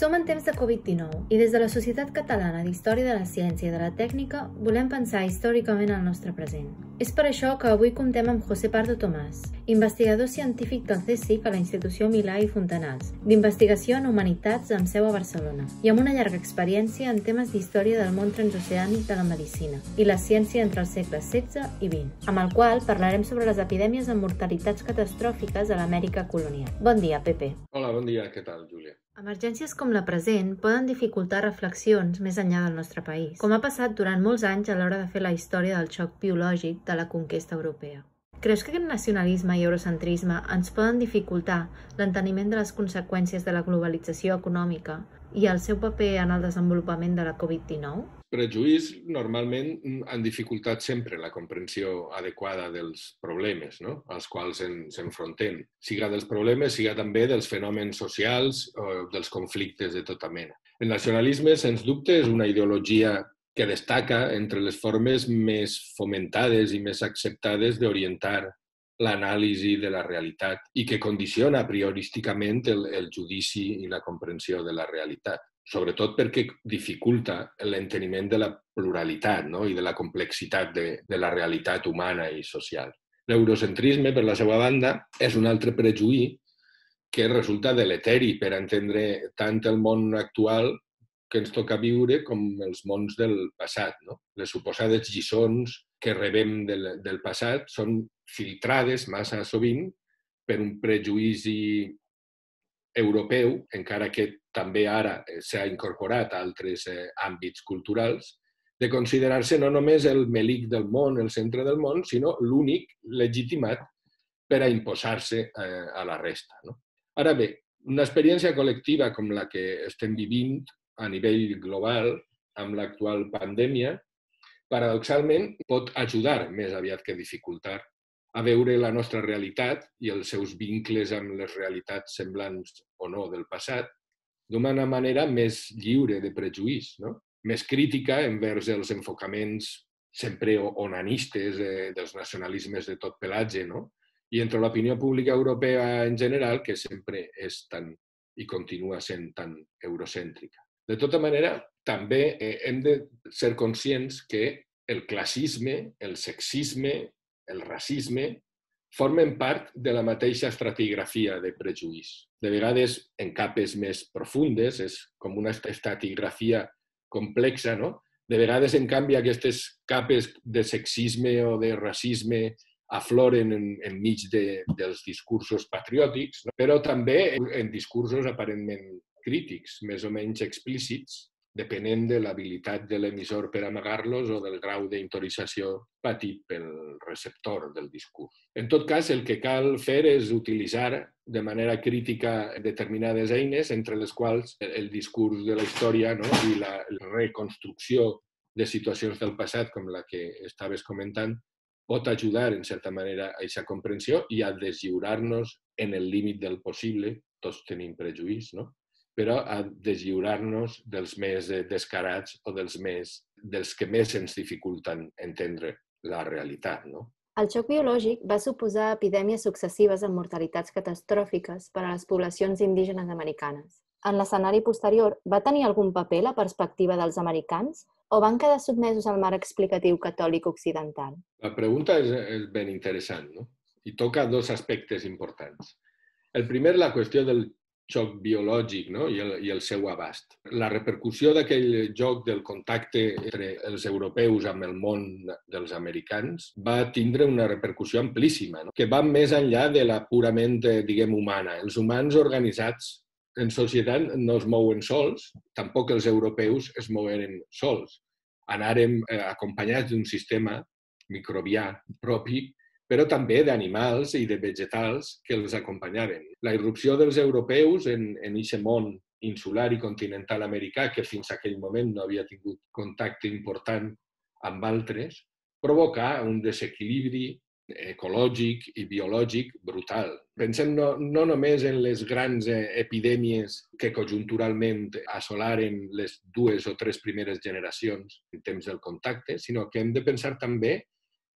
Som en temps de Covid-19 i des de la Societat Catalana d'Història de la Ciència i de la Tècnica volem pensar històricament el nostre present. És per això que avui comptem amb José Pardo Tomàs, investigador científic del CSIC a la Institució Milà i Fontanals, d'investigació en humanitats amb seu a Barcelona, i amb una llarga experiència en temes d'història del món transoceànic de la medicina i la ciència entre els segles XVI i XX, amb el qual parlarem sobre les epidèmies amb mortalitats catastròfiques a l'Amèrica colonial. Bon dia, Pepe. Hola, bon dia. Què tal, Júlia? Emergències com la present poden dificultar reflexions més enllà del nostre país, com ha passat durant molts anys a l'hora de fer la història del xoc biològic de la conquesta europea. Creus que aquest nacionalisme i eurocentrisme ens poden dificultar l'enteniment de les conseqüències de la globalització econòmica i el seu paper en el desenvolupament de la Covid-19? Prejuís normalment han dificultat sempre la comprensió adequada dels problemes, no?, als quals ens enfrontem, siga dels problemes, siga també dels fenòmens socials o dels conflictes de tota mena. El nacionalisme, sens dubte, és una ideologia que destaca entre les formes més fomentades i més acceptades d'orientar l'anàlisi de la realitat i que condiciona priorísticament el judici i la comprensió de la realitat, sobretot perquè dificulta l'enteniment de la pluralitat, no?, i de la complexitat de la realitat humana i social. L'eurocentrisme, per la seva banda, és un altre prejuí que resulta deleteri per entendre tant el món actual que ens toca viure com els mons del passat, no? Les suposades lliçons que rebem del passat són filtrades massa sovint per un prejudici europeu, encara que també ara s'ha incorporat a altres àmbits culturals, de considerar-se no només el melic del món, el centre del món, sinó l'únic legitimat per a imposar-se a la resta, no? Ara bé, una experiència col·lectiva com la que estem vivint a nivell global amb l'actual pandèmia, paradoxalment pot ajudar més aviat que dificultar a veure la nostra realitat i els seus vincles amb les realitats semblants o no del passat d'una manera més lliure de prejuís, no?, més crítica envers els enfocaments sempre onanistes dels nacionalismes de tot pelatge, no?, i entre l'opinió pública europea en general, que sempre és tan i continua sent tan eurocèntrica. De tota manera, també hem de ser conscients que el classisme, el sexisme, el racisme formen part de la mateixa estratigrafia de prejuís. De vegades en capes més profundes, és com una estratigrafia complexa, no? De vegades, en canvi, aquestes capes de sexisme o de racisme afloren enmig dels discursos patriòtics, no?, però també en discursos aparentment crítics, més o menys explícits, depenent de l'habilitat de l'emissor per amagar-los o del grau d'intorització patit pel receptor del discurs. En tot cas, el que cal fer és utilitzar de manera crítica determinades eines, entre les quals el discurs de la història, no?, i la reconstrucció de situacions del passat, com la que estaves comentant, pot ajudar, en certa manera, a aquesta comprensió i a deslliurar-nos en el límit del possible, tots tenim prejuís, no?, però a deslliurar-nos dels més descarats o dels que més ens dificulten entendre la realitat, no? El xoc biològic va suposar epidèmies successives amb mortalitats catastròfiques per a les poblacions indígenes americanes. En l'escenari posterior, va tenir algun paper la perspectiva dels americans o van quedar sotmesos al marc explicatiu catòlic occidental? La pregunta és ben interessant, no?, i toca dos aspectes importants. El primer, la qüestió del xoc biològic, no?, i el seu abast. La repercussió d'aquell joc del contacte entre els europeus amb el món dels americans va tindre una repercussió amplíssima, no?, que va més enllà de la purament, diguem, humana. Els humans organitzats en societat no es mouen sols, tampoc els europeus es mogueren sols. Anàrem acompanyats d'un sistema microbià propi, però també d'animals i de vegetals que els acompanyaven. La irrupció dels europeus en aquest món insular i continental americà, que fins a aquell moment no havia tingut contacte important amb altres, provocà un desequilibri ecològic i biològic brutal. Pensem no només en les grans epidèmies que conjunturalment assolaren les 2 o 3 primeres generacions en temps del contacte, sinó que hem de pensar també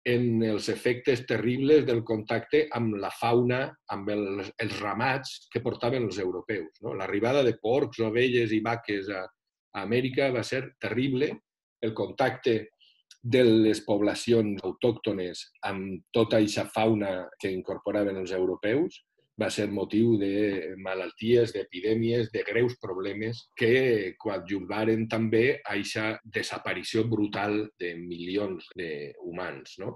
en els efectes terribles del contacte amb la fauna, amb els ramats que portaven els europeus. No? L'arribada de porcs, ovelles i vaques a Amèrica va ser terrible. El contacte de les poblacions autòctones amb tota aquesta fauna que incorporaven els europeus va ser motiu de malalties, d'epidèmies, de greus problemes que coadjuvaren també a aquesta desaparició brutal de milions d'humans. No?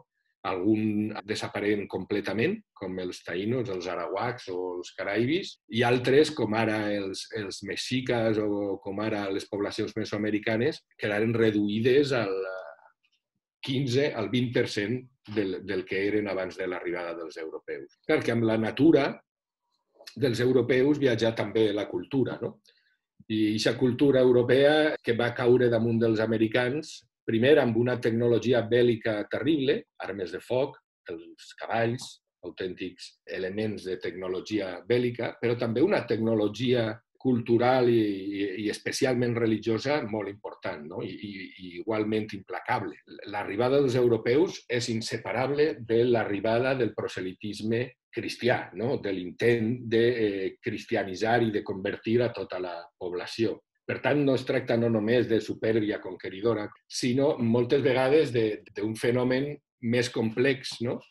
Alguns desapareixen completament, com els taïnos, els arahuacs o els caraibis, i altres, com ara els mexicas o com ara les poblacions mesoamericanes, quedaren reduïdes al 15 al 20% del que eren abans de l'arribada dels europeus. Perquè amb la natura dels europeus viatjà també la cultura, no? I aquesta cultura europea que va caure damunt dels americans, primer amb una tecnologia bèl·lica terrible, armes de foc, els cavalls, autèntics elements de tecnologia bèl·lica, però també una tecnologia cultural i especialment religiosa molt important, no? I igualment implacable. L'arribada dels europeus és inseparable de l'arribada del proselitisme cristià, no? De l'intent de cristianitzar i de convertir a tota la població. Per tant, no es tracta no només de supèrbia conqueridora, sinó moltes vegades d'un fenomen més complex, no?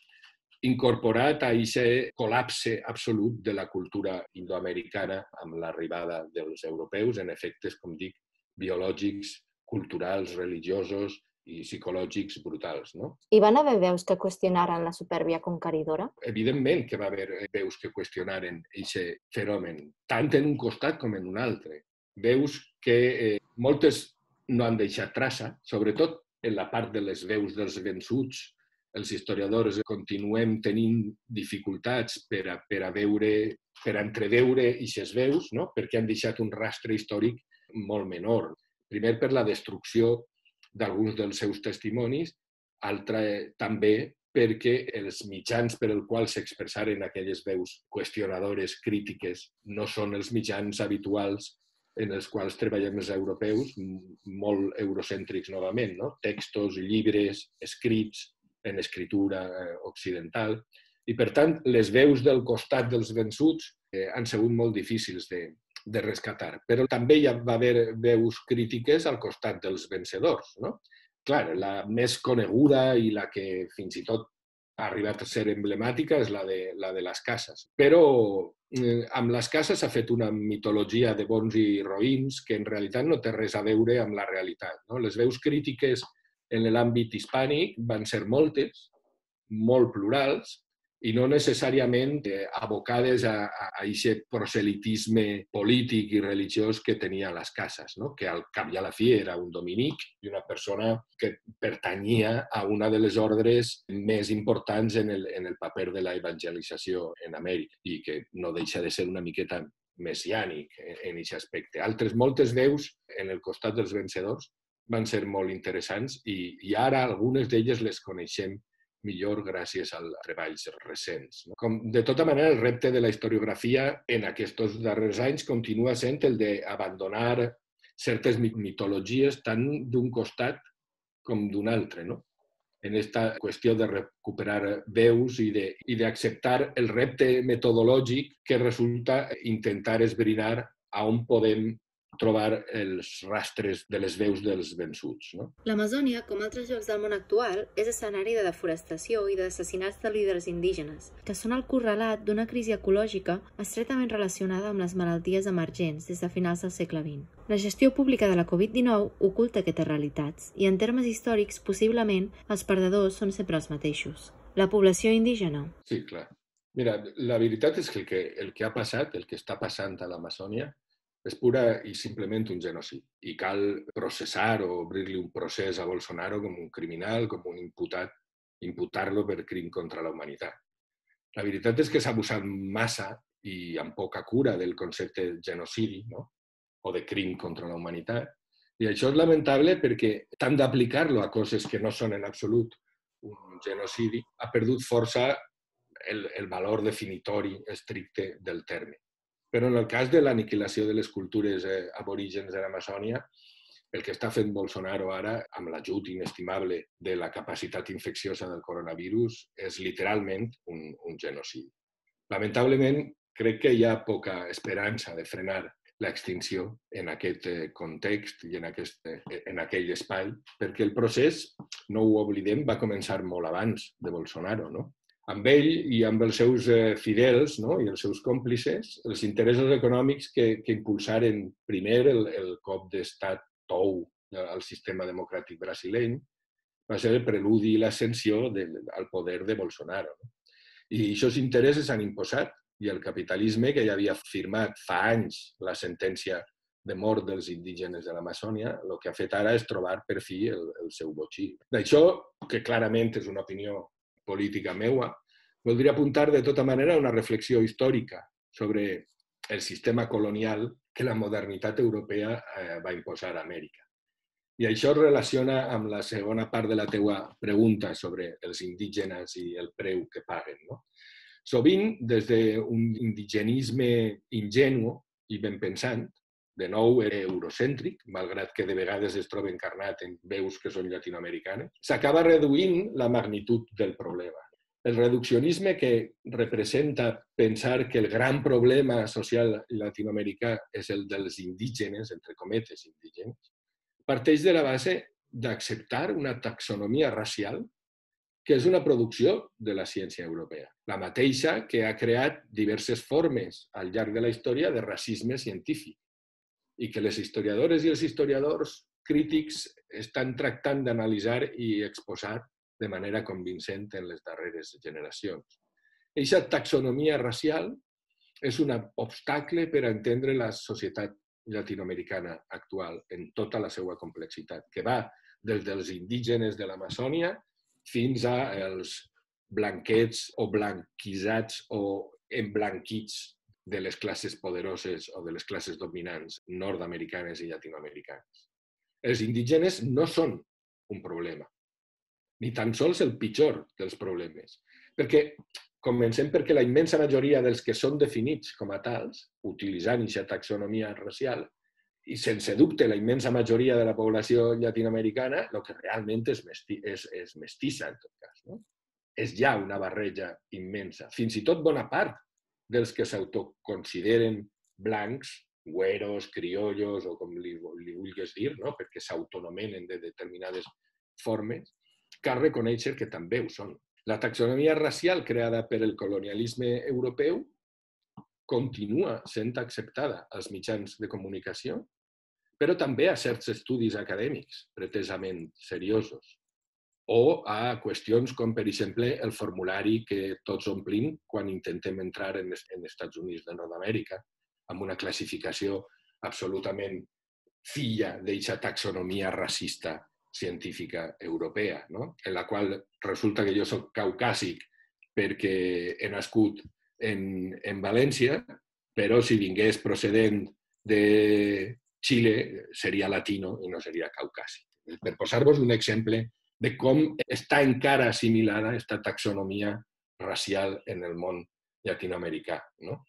Incorporat a aquest col·lapse absolut de la cultura indoamericana amb l'arribada dels europeus en efectes, com dic, biològics, culturals, religiosos i psicològics brutals. No? Hi van haver veus que qüestionaren la supèrbia conqueridora? Evidentment que va haver veus que qüestionaren aquest fenomen, tant en un costat com en un altre. Veus que moltes no han deixat traça, sobretot en la part de les veus dels vençuts. Els historiadors continuem tenint dificultats per entreveure aquestes veus, no? Perquè han deixat un rastre històric molt menor. Primer per la destrucció d'alguns dels seus testimonis, altre també perquè els mitjans per als quals s'expressaren aquelles veus qüestionadores, crítiques, no són els mitjans habituals en els quals treballem els europeus, molt eurocèntrics novament, no? Textos, llibres, escrits, en escritura occidental. I, per tant, les veus del costat dels vençuts han sigut molt difícils de rescatar. Però també hi va haver veus crítiques al costat dels vencedors. No? Clar, la més coneguda i la que fins i tot ha arribat a ser emblemàtica és la de les cases. Però amb les cases s'ha fet una mitologia de bons i roïns que en realitat no té res a veure amb la realitat. No? Les veus crítiques en l'àmbit hispànic van ser moltes, molt plurals, i no necessàriament abocades a aquest proselitisme polític i religiós que tenia les cases, no? Que al cap i a la fi era un dominic i una persona que pertanyia a una de les ordres més importants en el paper de la evangelització en Amèrica i que no deixa de ser una miqueta messiànic en aquest aspecte. Moltes veus en el costat dels vencedors van ser molt interessants i ara algunes d'elles les coneixem millor gràcies als treballs recents. De tota manera, el repte de la historiografia en aquests darrers anys continua sent el d'abandonar certes mitologies tant d'un costat com d'un altre, no? En aquesta qüestió de recuperar veus i d'acceptar el repte metodològic que resulta intentar esbrinar a on podem trobar els rastres de les veus dels vençuts. No? L'Amazònia, com altres llocs del món actual, és escenari de deforestació i d'assassinats de líders indígenes, que són el correlat d'una crisi ecològica estretament relacionada amb les malalties emergents des de finals del segle XX. La gestió pública de la Covid-19 oculta aquestes realitats i, en termes històrics, possiblement, els perdedors són sempre els mateixos. La població indígena. Sí, clar. Mira, la veritat és que el que ha passat, el que està passant a l'Amazònia, és pura i simplement un genocidi. I cal processar o obrir-li un procés a Bolsonaro com un criminal, com un imputat, imputar-lo per crim contra la humanitat. La veritat és que s'ha abusat massa i amb poca cura del concepte de genocidi, no? O de crim contra la humanitat. I això és lamentable perquè tant d'aplicar-lo a coses que no són en absolut un genocidi ha perdut força el valor definitori estricte del terme. Però en el cas de l'aniquilació de les cultures aborígens de l'Amazònia, El que està fent Bolsonaro ara, amb l'ajut inestimable de la capacitat infecciosa del coronavirus, és literalment un genocidi. Lamentablement, crec que hi ha poca esperança de frenar l'extinció en aquest context i en aquell espai, perquè el procés, no ho oblidem, va començar molt abans de Bolsonaro, no? Amb ell i amb els seus fidels, no? I els seus còmplices, els interessos econòmics que impulsaren primer el cop d'estat tou al sistema democràtic brasileny va ser el preludi i l'ascensió al poder de Bolsonaro. No? I aquests interessos s'han imposat i el capitalisme, que ja havia firmat fa anys la sentència de mort dels indígenes de l'Amazònia, el que ha fet ara és trobar per fi el seu botxí. D'això, que clarament és una opinió política meua, voldria apuntar de tota manera una reflexió històrica sobre el sistema colonial que la modernitat europea va imposar a Amèrica. I això es relaciona amb la segona part de la teua pregunta sobre els indígenes i el preu que paguen. No? Sovint, des d'un indigenisme ingenu i ben pensant, de nou eurocèntric, malgrat que de vegades es troba encarnat en veus que són llatinoamericanes, s'acaba reduint la magnitud del problema. El reduccionisme que representa pensar que el gran problema social latinoamericà és el dels indígenes, entre cometes indígenes, parteix de la base d'acceptar una taxonomia racial que és una producció de la ciència europea. La mateixa que ha creat diverses formes al llarg de la història de racisme científic i que les historiadores i els historiadors crítics estan tractant d'analitzar i exposar de manera convincent en les darreres generacions. Aquesta taxonomia racial és un obstacle per a entendre la societat llatinoamericana actual en tota la seva complexitat, que va des dels indígenes de l'Amazònia fins als blanquets o blanquisats o emblanquits de les classes poderoses o de les classes dominants nord-americanes i llatinoamericanes. Els indígenes no són un problema, ni tan sols el pitjor dels problemes. Perquè, comencem perquè la immensa majoria dels que són definits com a tals, utilitzant aquesta taxonomia racial, i sense dubte la immensa majoria de la població llatinoamericana, el que realment és mestissa, en tot cas. No? És ja una barreja immensa. Fins i tot bona part dels que s'autoconsideren blancs, güeros, criollos, o com li vulguis dir, no? Perquè s'autonomenen de determinades formes, cal reconèixer que també ho són. La taxonomia racial creada per el colonialisme europeu continua sent acceptada als mitjans de comunicació, però també a certs estudis acadèmics pretesament seriosos, o a qüestions com, per exemple, el formulari que tots omplim quan intentem entrar en Estats Units de Nord-Amèrica, amb una classificació absolutament filla d'aquesta taxonomia racista científica europea, no? En la qual resulta que jo soc caucàsic perquè he nascut en València, però si vingués procedent de Xile seria latino i no seria caucàsic. Per posar-vos un exemple de com està encara assimilada aquesta taxonomia racial en el món llatinoamericà. No?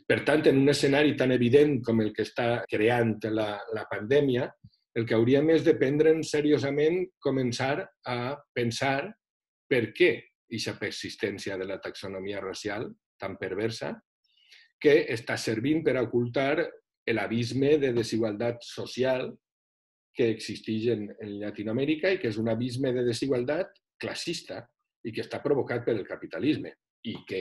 Per tant, en un escenari tan evident com el que està creant la pandèmia, el que hauríem és de prendre'n seriosament començar a pensar per què aquesta persistència de la taxonomia racial tan perversa que està servint per ocultar l'abisme de desigualtat social que existeix en Llatinoamèrica i que és un abisme de desigualtat classista i que està provocat per el capitalisme i que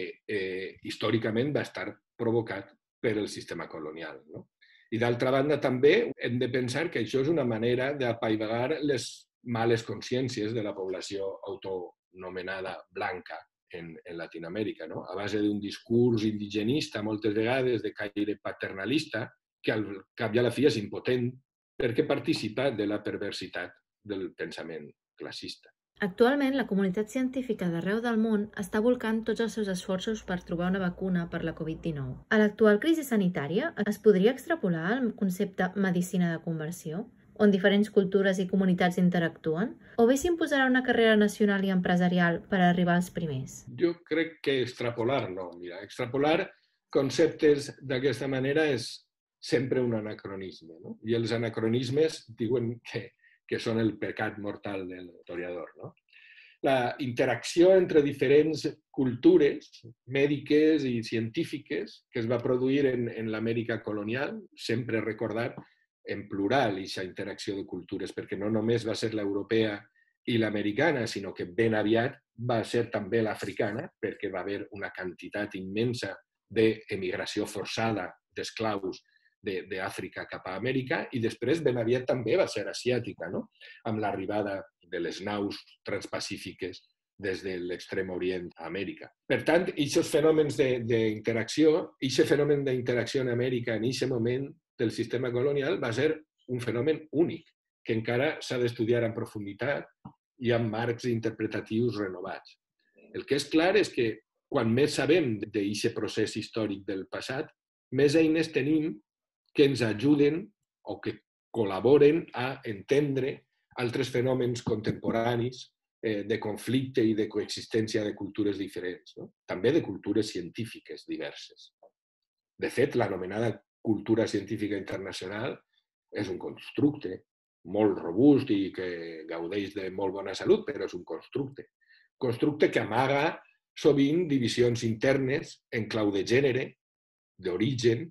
històricament va estar provocat per el sistema colonial. No? I d'altra banda també hem de pensar que això és una manera d'apaivagar les males consciències de la població autonomenada blanca en Latinoamèrica, no? A base d'un discurs indigenista, moltes vegades de caire paternalista, que al cap i a la fi és impotent perquè participa de la perversitat del pensament classista. Actualment, la comunitat científica d'arreu del món està volcant tots els seus esforços per trobar una vacuna per la Covid-19. A l'actual crisi sanitària, es podria extrapolar el concepte medicina de conversió, on diferents cultures i comunitats interactuen, o bé s'imposarà una carrera nacional i empresarial per arribar als primers? Jo crec que extrapolar no. Mira, extrapolar conceptes d'aquesta manera és sempre un anacronisme, no? I els anacronismes diuen que són el pecat mortal de l'historiador, no? La interacció entre diferents cultures mèdiques i científiques que es va produir en l'Amèrica colonial, sempre recordar en plural aquesta interacció de cultures, perquè no només va ser l'europea i l'americana, sinó que ben aviat va ser també l'africana, perquè va haver una quantitat immensa d'emigració forçada d'esclaus d'Àfrica cap a Amèrica, i després ben aviat també va ser asiàtica, no? Amb l'arribada de les naus transpacífiques des de l'extrem orient a Amèrica. Per tant, aquests fenòmens d'interacció, aquest fenomen d'interacció en Amèrica en aquest moment del sistema colonial va ser un fenomen únic, que encara s'ha d'estudiar en profunditat i amb marcs interpretatius renovats. El que és clar és que quan més sabem d'aquest procés històric del passat, més eines tenim que ens ajuden o que col·laboren a entendre altres fenòmens contemporanis de conflicte i de coexistència de cultures diferents, no? També de cultures científiques diverses. De fet, l'anomenada cultura científica internacional és un constructe molt robust i que gaudeix de molt bona salut, però és un constructe. Constructe que amaga sovint divisions internes en clau de gènere, d'origen,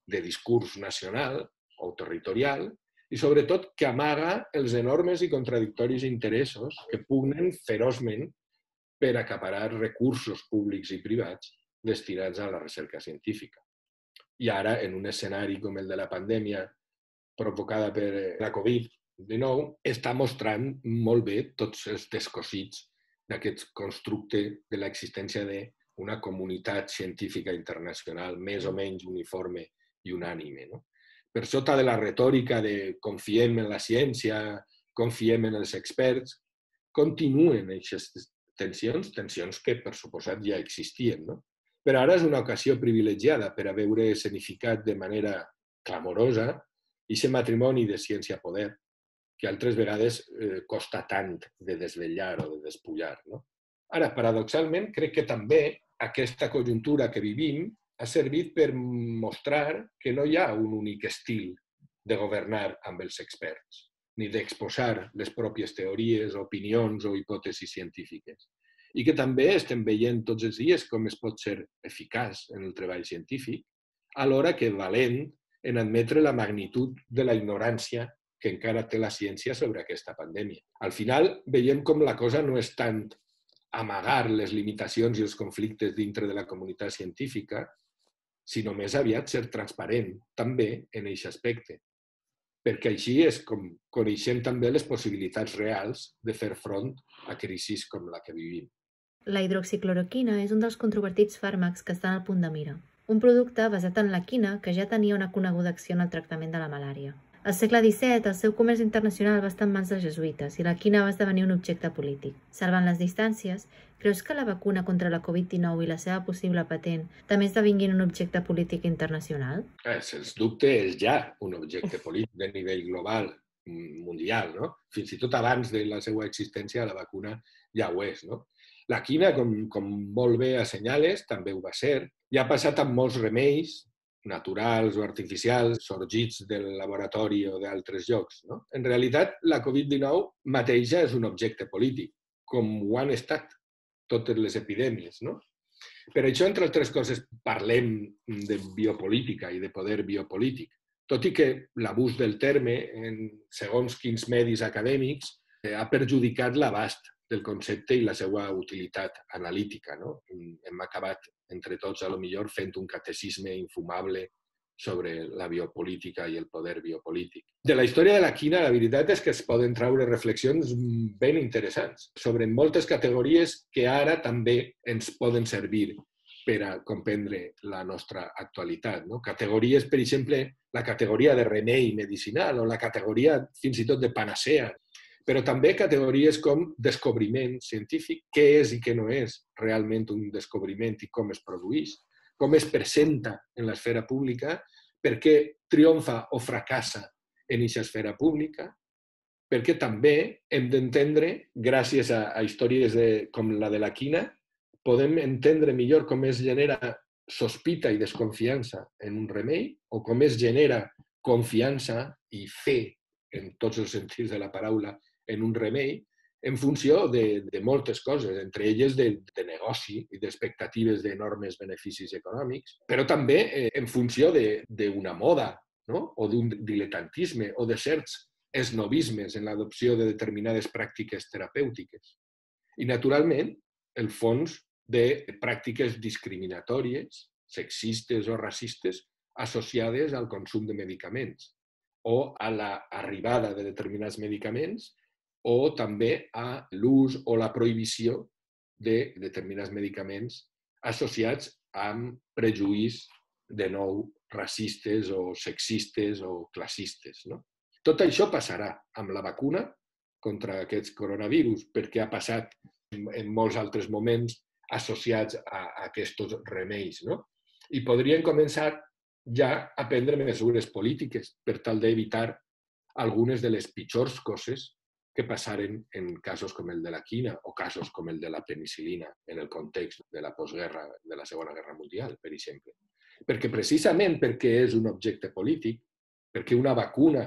de discurs nacional o territorial, i sobretot que amaga els enormes i contradictoris interessos que pugnen feroçment per acaparar recursos públics i privats destinats a la recerca científica. I ara, en un escenari com el de la pandèmia provocada per la Covid-19, està mostrant molt bé tots els descosits d'aquest constructe de l'existència d'una comunitat científica internacional més o menys uniforme i unànime, no? Per sota de la retòrica de confiem en la ciència, confiem en els experts, continuen aquestes tensions que, per suposat, ja existien, no? Però ara és una ocasió privilegiada per a veure escenificat de manera clamorosa aquest matrimoni de ciència-poder que altres vegades costa tant de desvetllar o de despullar, no? Ara, paradoxalment, crec que també aquesta conjuntura que vivim ha servit per mostrar que no hi ha un únic estil de governar amb els experts, ni d'exposar les pròpies teories, opinions o hipòtesis científiques. I que també estem veient tots els dies com es pot ser eficaç en el treball científic, alhora que valent en admetre la magnitud de la ignorància que encara té la ciència sobre aquesta pandèmia. Al final, veiem com la cosa no és tant amagar les limitacions i els conflictes dintre de la comunitat científica, sinó més aviat ser transparent també en aquest aspecte. Perquè així és com coneixem també les possibilitats reals de fer front a crisis com la que vivim. La hidroxicloroquina és un dels controvertits fàrmacs que estan al punt de mira. Un producte basat en la quina que ja tenia una coneguda acció en el tractament de la malària. Al segle XVII, el seu comerç internacional va estar en mans dels jesuïtes i la quina va esdevenir un objecte polític. Salvant les distàncies, creus que la vacuna contra la Covid-19 i la seva possible patent també esdevinguin un objecte polític internacional? Sens dubte és ja un objecte polític de nivell global, mundial, no? Fins i tot abans de la seva existència la vacuna ja ho és, no? La quina, com molt bé assenyales, també ho va ser. Ja ha passat amb molts remeis naturals o artificials sorgits del laboratori o d'altres llocs, no? En realitat, la Covid-19 mateixa és un objecte polític, com ho han estat totes les epidèmies, no? Per això, entre altres coses, parlem de biopolítica i de poder biopolític, tot i que l'abús del terme en segons quins medis acadèmics ha perjudicat l'abast del concepte i la seva utilitat analítica, no? Hem acabat entre tots, a lo millor, fent un catecisme infumable sobre la biopolítica i el poder biopolític. De la història de la quina, la veritat és que es poden traure reflexions ben interessants sobre moltes categories que ara també ens poden servir per a comprendre la nostra actualitat, no? Categories, per exemple, la categoria de remei medicinal o la categoria fins i tot de panacea, però també categories com descobriment científic, què és i què no és realment un descobriment i com es produeix, com es presenta en l'esfera pública, per què triomfa o fracassa en aquesta esfera pública, perquè també hem d'entendre, gràcies a històries com la de la quina, podem entendre millor com es genera sospita i desconfiança en un remei o com es genera confiança i fe, en tots els sentits de la paraula, en un remei, en funció de moltes coses, entre elles de negoci i d'expectatives d'enormes beneficis econòmics, però també en funció d'una moda, no? O d'un diletantisme o de certs esnovismes en l'adopció de determinades pràctiques terapèutiques. I, naturalment, el fons de pràctiques discriminatòries, sexistes o racistes, associades al consum de medicaments o a l'arribada de determinats medicaments o també a l'ús o la prohibició de determinats medicaments associats amb prejuís, de nou, racistes o sexistes o classistes, no? Tot això passarà amb la vacuna contra aquests coronavirus, perquè ha passat en molts altres moments associats a aquests remeis, no? I podrien començar ja a prendre mesures polítiques per tal d'evitar algunes de les pitjors coses que passaren en casos com el de la quina o casos com el de la penicil·lina en el context de la postguerra, de la Segona Guerra Mundial, per exemple. Perquè precisament perquè és un objecte polític, perquè una vacuna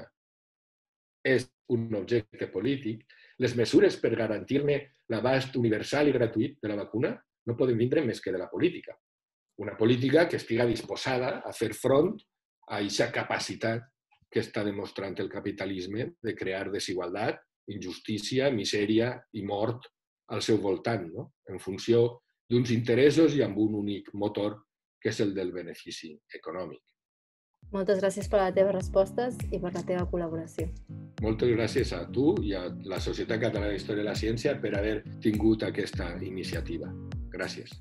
és un objecte polític, les mesures per garantir-ne l'abast universal i gratuït de la vacuna no poden vindre més que de la política. Una política que estiga disposada a fer front a aquesta capacitat que està demostrant el capitalisme de crear desigualtat, injustícia, misèria i mort al seu voltant, no? En funció d'uns interessos i amb un únic motor, que és el del benefici econòmic. Moltes gràcies per les teves respostes i per la teva col·laboració. Moltes gràcies a tu i a la Societat Catalana d'Història de la Ciència per haver tingut aquesta iniciativa. Gràcies.